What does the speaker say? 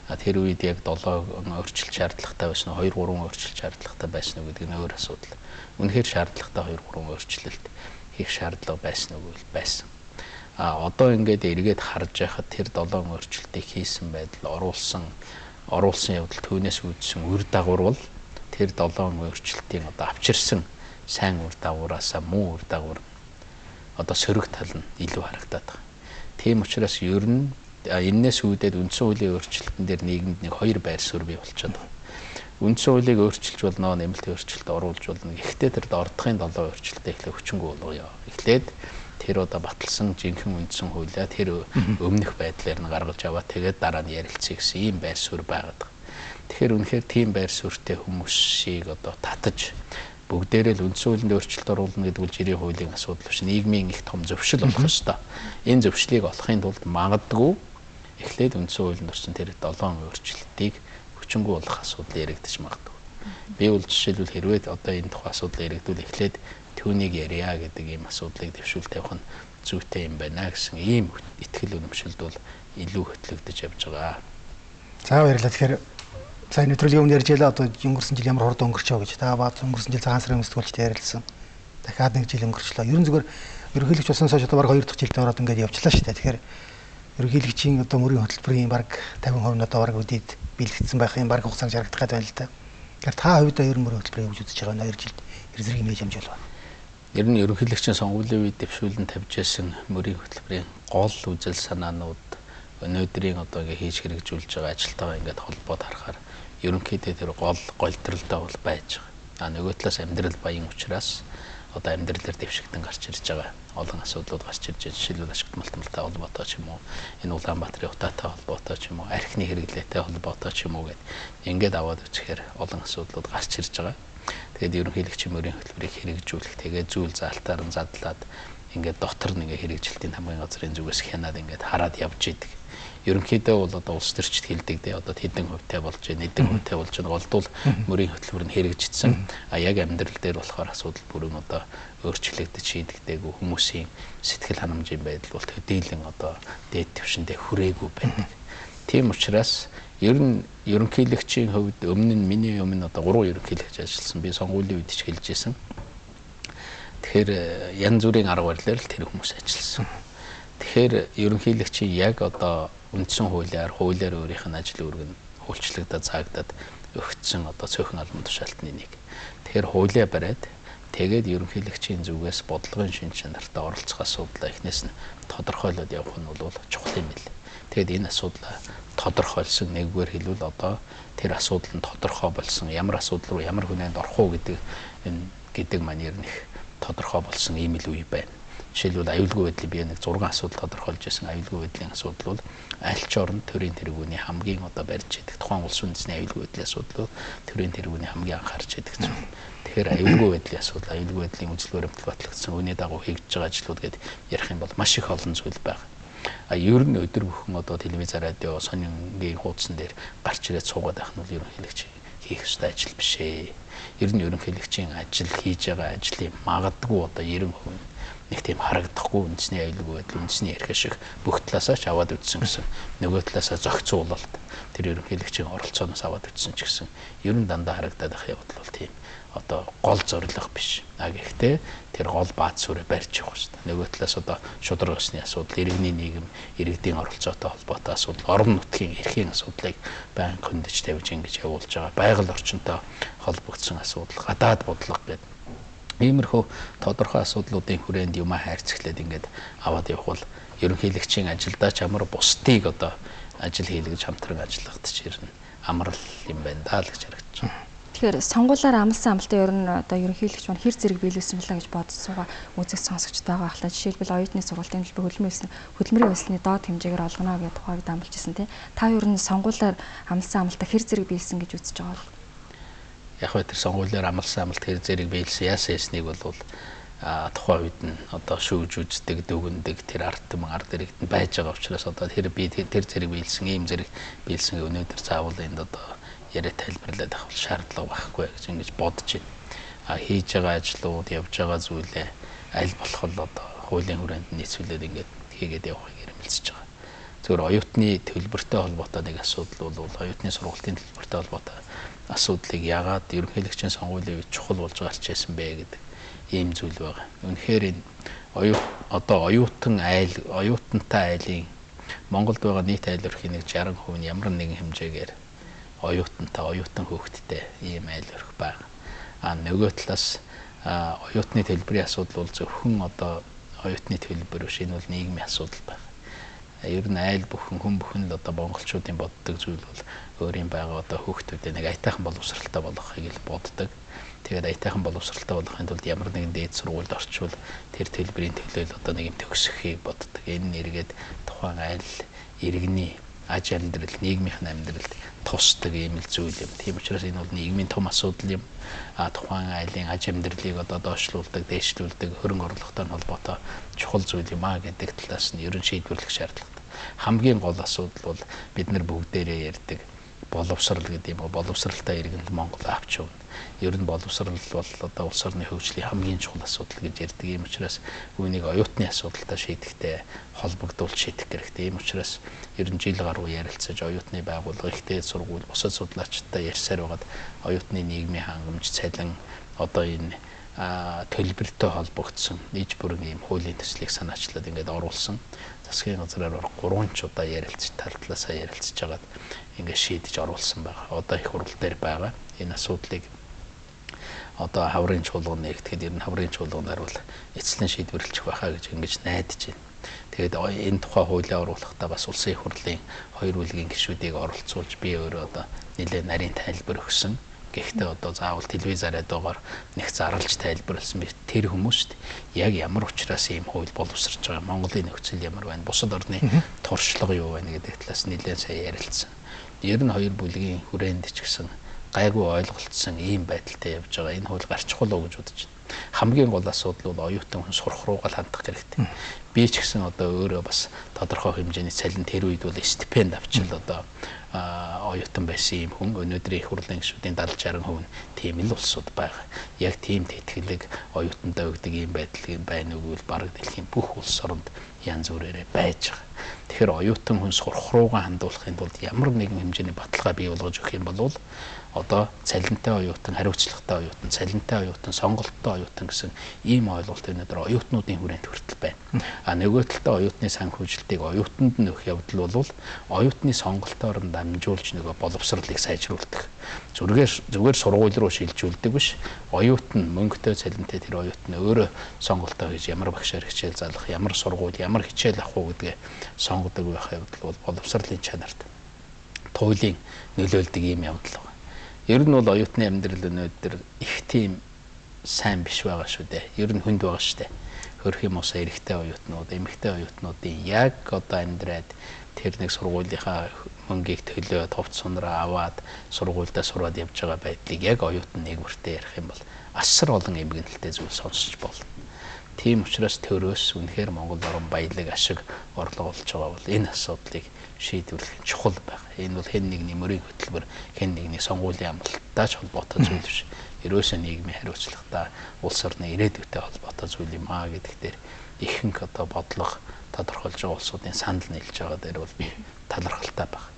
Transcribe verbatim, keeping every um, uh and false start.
Тэр үед яг долоо өөрчлөлт шаардлагатай байсан уу, хоёр гурван өөрчлөлт шаардлагатай байсан уу гэдэг нь өөр асуудал. Үнэхээр шаардлагатай хоёр гурван өөрчлөлт хийх шаардлага байсан уу гэвэл байсан. А одоо ингээд эргээд харж байхад тэр долоон өөрчлөлтийг хийсэн байдал оруулсан оруулсан явдал түүнээс үүдсэн үр дагавар бол тэр долоон өөрчлөлтийн одоо авчирсан сайн үр дагавараасаа муу үр дагавар одоо сөрөг тал нь илүү харагдаад байгаа. Тийм учраас ер нь энэс үүдээд үндсэн хуулийн өөрчлөлтөн дээр нийгэмд нэг хоёр байр суурь бий болчиход байна. Үндсэн хуулийг өөрчилж болно, нэмэлт өөрчлөлт оруулж болно. Гэхдээ тэр дордохын долоо өөрчлөлтөө эхлээ хүчингү болгоё. Эхлээд тэр одоо баталсан жинхэнэ үндсэн хуулиа тэр өмнөх байдлаар нь гаргаж аваад тэгээд дараа нь ярилцъя гэсэн ийм байр суурь байгаад байна. Тэгэхээр үнэхээр тийм байр суурьтай хүмүүсийг одоо татаж бүгдээрээ л үндсэн хуулинд өөрчлөлт оруулна гэдэг нь жирийн хуулийн асуудал биш. Нийгмийн их том зөвшөл болох ёстой. Энэ зөвшлийг олохын тулд магадгүй эхлээд үндсэн хуулинд орсон тэр долоон өөрчлөлтийг хүчингү болох асуудал яригдчих магадгүй. Би бол жишээлбэл хэрвээ одоо энэ тухай асуудал яригдвал эхлээд түүнийг ярья гэдэг ийм асуудлыг дэвшүүл тавих нь зүйтэй юм байна гэсэн ийм итгэл үнэмшилд бол илүү хөтлөгдөж явж байгаа. За баярлалаа. Тэгэхээр за нэвтрүүлгийн өмнө ярьж байлаа одоо өнгөрсөн жил ямар хурд өнгөрчөө гэж. Та баад өнгөрсөн жил цагаан сарын өмсгөлчтэй ярилцсан. Дахиад нэг жил өнгөрчлөө. Ерөн зүгээр ерөнхийлөгч болсон хойш одоо баг хоёр дахь жилдээ ороод ингээд явчлаа шүү дээ. Тэгэхээр ерөнхийлөгчийн одоо мөрийн хөтөлбөрийн баг тавин хувь нь одоо баг үдээд бэлтгэсэн байх юм баг хугацаанд жаргагдах гэдэг байна л да. Тэгэхээр та хувьдаа ер нь мөрийн хөтөлбөрийг юу үзэж байгаа вэ? хоёр жилд ер зэрэг имэж хэмжээл байна. Ер нь ерөнхийлөгчийн сонгуулийн үед дэвшүүлэн тавьж байсан мөрийн хөтөлбөрийн гол үзэл санаанууд өнөөдрийн одоо ингээ хийж хэрэгжүүлж байгаа ажилтайгаа ингээд холбоод харахаар ерөнхийдөө тэр гол голдролтой бол байж байгаа. А нөгөө талаас амьдрал баян учраас одоо амьдрал дээр дэвшигдэн гарч ирж байгаа олон асуудлууд гарч ирж байгаа. Жишээлбэл ашигт малтмалтай холбоотой ч юм уу, энэ Улаанбаатарын утаатай холбоотой ч юм уу, архины хэрэглээтэй холбоотой ч юм уу гэд ингээд аваад үзэхээр олон асуудлууд гарч ирж байгаа. Тэгээд ерөнхийлөгчийн мөрийн хөтөлбөрийг хэрэгжүүлэх, тэгээд зүйл заалтаар нь задлаад ингээд дотор нь ингээд хэрэгжилтийн хамгийн газрын зүгээс хянаад ингээд хараад явж идэг. Ерөнхийдөө бол одоо улс төрчид хэлдэг дээ одоо хэдэн хувьтай болж байна, хэдэн хувьтай болж байна. Голдвол мөрийн хөтөлбөр нь хэрэгжижсэн. А яг амьдрал дээр болохоор асуудал бүрэн одоо өөрчлөгдөж шийдэгдээгүй хүмүүсийн сэтгэл ханамжийн байдал бол төдийлөн одоо дээд түвшиндээ хүрээгүй байдаг. Тийм учраас ер нь ерөнхийлөгчийн хувьд өмнө нь миний өмнө одоо гурван ерөнхийлөгч ажилласан. Би сонгуулийн үед ч хэлж ирсэн. Тэгэхээр янз бүрийн арга барилаар л тэр хүмүүс ажилласан. Тэгэхээр ерөнхийлөгчийн яг одоо үндсэн хуулиар хуулиар өөрийнх нь ажил үүрэг нь хөлчлөгдөд цаагдаад өгсөн одоо цөөхөн албан тушаалтны нэг. Тэгэхээр хуулиа бариад тэгээд ерөнхийлөгчийн зүгээс бодлогын шин чанартай оролцох асуудлаа эхнээс нь тодорхойлоод явах нь бол чухал юм бэл. Тэгээд энэ асуудлаа тодорхойлсон нэггээр хэлбэл одоо тэр асуудал нь тодорхой болсон ямар асуудал руу ямар хүнээнд орох уу гэдэг энэ гэдэг манер нэх тодорхой болсон ийм л үе байна. Жишээлбэл аюулгүй байдлыг би нэг зургаан асуудал тодорхойлж байсан. Аюулгүй байдлын асуудал бол аль ч орнд төрийн тэргүүний хамгийн одоо барьж идэг тухайн улс үндэсний аюулгүй байдлын асуудал төрийн тэргүүний хамгийн анхаарч идэг зүйл. Тэгэхээр аюулгүй байдлын асуудал, аюулгүй байдлын үзэл баримтлал батлагдсан үүний дагуу хийгдэж байгаа ажлууд гэдээ ярих юм бол маш их олон зүйл байна. А ер нь өдөр бүхэн одоо телевиз, радио, сонингийн хуудсан дээр гарч ирээд суугаад байх нь бол ерөнхийлөгч хийх ёстой ажил биш ээ. Ер нь ерөнхийлөгчийн ажил хийж байгаа ажлын магадгүй одоо ninety percent нэг тийм харагдахгүй үндэсний аюулгүй байдал, үндэсний ярих шиг бүх талаасаа ч аваад үтсэн гэсэн. Нөгөө талаасаа зохицуулалт тэр ерөнхийлөгчийн оролцооноос аваад үтсэн ч гэсэн ер нь дандаа харагдаад байх явдал бол тийм одоо гол зорилго биш. А гэхдээ тэр гол бааз сүрэ барьж явах хэрэгтэй. Нөгөө талаас одоо шудраг усны асуудал, иргэний нийгэм, иргэдийн оролцоотой холбоотой асуудал, орон нутгийн эрхийн асуудлыг байнга хөндөж тавьж ингэж явуулж байгаа. Байгаль орчинтой холбогдсон асуудал, гадаад бодлого гэдэг иймэрхүү тодорхой асуудлуудын хүрээнд юмаа хайрцаглаад ингээд аваад явах бол ерөнхийлөгчийн ажилдаа ч амар бусдыг одоо ажил хийлгэж хамтран ажиллахад ч ирнэ амрал юм байна даа л гэж харагдаж байна. Тэгэхээр сонгуулиар амласан амлалтын ер нь одоо ерөнхийлөгч маань хэр зэрэг биелүүлсэн мэлээ гэж бодсоогаа үзэх сонсогч байгаа ахлаа. Жишээлбэл оюутны сургалтын хөтөлбөр хөдөлмөрийн хөдөлмөрийн өсөлтний доод хэмжээгээр олгоно гэдэг тухайг дамжуулж ирсэн тийм. Та ер нь сонгуулиар амласан амлалтаа хэр зэрэг биелсэн гэж үзэж байгаа бол яг хөө тэр сонгуулиар амласан амлалт хэр зэрэг биелсэн яасан ясныг бол а тухайн үед нь одоо шүүж үздэг, дүгндэг тэр ард түмэн ард иргэд нь байж байгаа учраас одоо тэр би тэр зэрэг биелсэн, ийм зэрэг биелсэн өнөөдөр заавал энд одоо яриа тайлбарлаад авах шаардлага байхгүй гэж ингэж бодож байна. А хийж байгаа ажлууд, явж байгаа зүйлээ аль болох л одоо хуулийн хүрээнд нийцүүлээд ингэж хийгээд явахыг эрмэлзэж байгаа. зөвхөн оюутны төлбөртэй холбоотой нэг асуудал бол оюутны сургалтын төлбөртэй холбоотой асуудлыг яагаад ерөнхийлөгчийн сонгуулийн үед чухал болж гарч ирсэн бэ гэдэг ийм зүйл байгаа. Үнэхээр энэ оюут одоо оюутан айл оюутантай айлын Монголд байгаа нийт айл өрхийн нэг шаран хувь нь ямар нэгэн хэмжээгээр оюутантай оюутан хүүхэдтэй ийм айл өрх байна. А нөгөө талаас оюутны төлбөрийн асуудал бол зөвхөн одоо оюутны төлбөр биш, энэ бол нийгмийн асуудал байна. Ер нь айл бүхэн хүн бүхэн л одоо монголчуудын боддог зүйл бол өөрийн байгаа одоо хүүхдүүдэд нэг аятайхан боловсралтай болгохыг л боддог. Тэгээд аятайхан боловсралтай болгохын тулд ямар нэгэн дээд сургуульд орчвол тэр төлбөрийн төлөөл одоо нэг юм төгсөхийг боддог. Энэ нэргээд тухайн айл иргэний аж амьдрал, нийгмийнх нь амьдралд тусдаг ийм л зүйл юм. Тийм учраас энэ бол нийгмийн том асуудал юм. А тухайн айлын аж амьдралыг одоо доошлуулдаг, дээшлүүлдэг хөрөнгө орлоготой холбоотой чухал зүйл юм а гэдэг талаас нь ерөн шийдвэрлэх шаардлагатай. Хамгийн гол асуудал бол бид нар бүгдээрээ ярьдаг боловсрал гэдэг юм. Боловсралтай иргэнэл Монгол авч явна. Ер нь боловсрал бол одоо улс орны хөгжлийн хамгийн чухал асуудал гэж ярьдаг. Ийм учраас үүнийг оюутны асуудалтай шийдэхтэй холбогдуулж шийдэх хэрэгтэй. Ийм учраас ер нь жил гаруй ярилцаж оюутны байгууллага, ихтэй сургууль, бусад судлаачдтай ярьсаар байгаад оюутны нийгмийн хангамж, цалин одоо энэ төлбөртэй холбогдсон нийт бүрэн ийм хуулийн төслийг санаачлаад ингээд оруулсан. Засгийн газраар гурван ч удаа ярилцж, тал талаасаа ярилцж хагаад ингээд шийдэж оруулсан байгаа. Одоо их хурал дээр байгаа. Энэ асуудлыг одоо хаврын чуулган нэгтгэхэд ер нь хаврын чуулганаар бол эцэслэн шийдвэрлэх байхаа гэж ингэж найдаж байна. Тэгээд энэ тухай хуулиа оруулахдаа бас улсын их хурлын хоёр бүлгийн гишүүдийг оролцуулж би өөрөө одоо нэлээд нарийн тайлбар өгсөн. Гэхдээ одоо заавал телевизаараа дуугаар нэг зарлж тайлбарласан би тэр хүмүүст яг ямар учраас ийм хууль боловсрч байгаа, Монголын нөхцөл ямар байна, бусад орны туршлага юу байна гэдэг талаас нэлээд сайн ярилцсан. Ер нь хоёр бүлгийн хүрээнд ч гэсэн гайгүй ойлголцсон ийм байдалтай явж байгаа. Энэ хууль гарчихгүй л гэж бодож байна. Хамгийн гол асуудал бол оюутан хүн сурах руугаа хандах хэрэгтэй. Би ч гэсэн одоо өөрөө бас тодорхой хэмжээний цалин тэр үед бол стипенд авчил одоо оюутан байсан юм хүн. Өнөөдрийн их хурлын гишүүдийн дадлж шаран хувь нь тийм л улсууд байгаа. Яг тийм тэтгэлэг оюутандаа өгдөг ийм байдал байна уу гэвэл бараг дэлхийн бүх улс оронд янз бүрээрээ байж байгаа. Тэгэхээр оюутан хүн сурах руугаа хандуулахын тулд ямар нэгэн хэмжээний баталгаа бий болгож өгөх юм бол одоо цалинтай оюутан, хариуцлагатай оюутан, цалинтай оюутан, сонголттой оюутан гэсэн ийм ойлголт өнөөдөр оюутнуудын хүрээнд хүртэл байна. А нөгөө талдаа оюутны санхүүжилтийг оюутанд нөх явдал бол оюутны сонголтоор нь дамжуулж нөгөө боловсролыг сайжруулдаг. Зүгээр зүгээр сургууль руу шилжүүлдэг биш. Оюутан мөнгөтэй цалинтай тэр оюутан өөрөө сонголтоо хийж ямар багшаар хичээл заалах, ямар сургууль, ямар хичээл авах уу гэдгээ сонгодог байх явдал бол боловсролын чанарт туйлын нөлөөлдөг ийм явдал. Ер нь бол оюутны амьдрал өнөөдөр их тийм сайн биш байгаа шүү дээ. Ер нь хүнд байгаа шүү дээ. Хөрх юм уусаа эрэгтэй оюутнууд, эмэгтэй оюутнуудын яг одоо амьдраад тэр нэг сургуулийнхаа мөнгийг төлөө товч сунраа аваад сургуульдаа сураад явж байгаа байдлыг яг оюутан нэгвэртэй ярих юм бол асар олон эмгэнэлтэй зүйл сонсож болно. Тийм учраас төрөөс үнэхээр Монгол орн баялаг ашиг орлого болж байгаа бол энэ асуудлыг шийдвэрлэх чухал байна. Энэ бол хэн нэгний мөрийн хөтөлбөр, хэн нэгний сонгуулийн амлалттай ч холбоотой зүйл биш. Ерөөсөө нийгмийн хариуцлагатай улс орны ирээдүйтэй холбоотой зүйл юм аа гэдэг дээр ихэнх одоо бодлого тодорхойлж байгаа улсуудын санал нийлж байгаа дээр бол би талархалтай байна.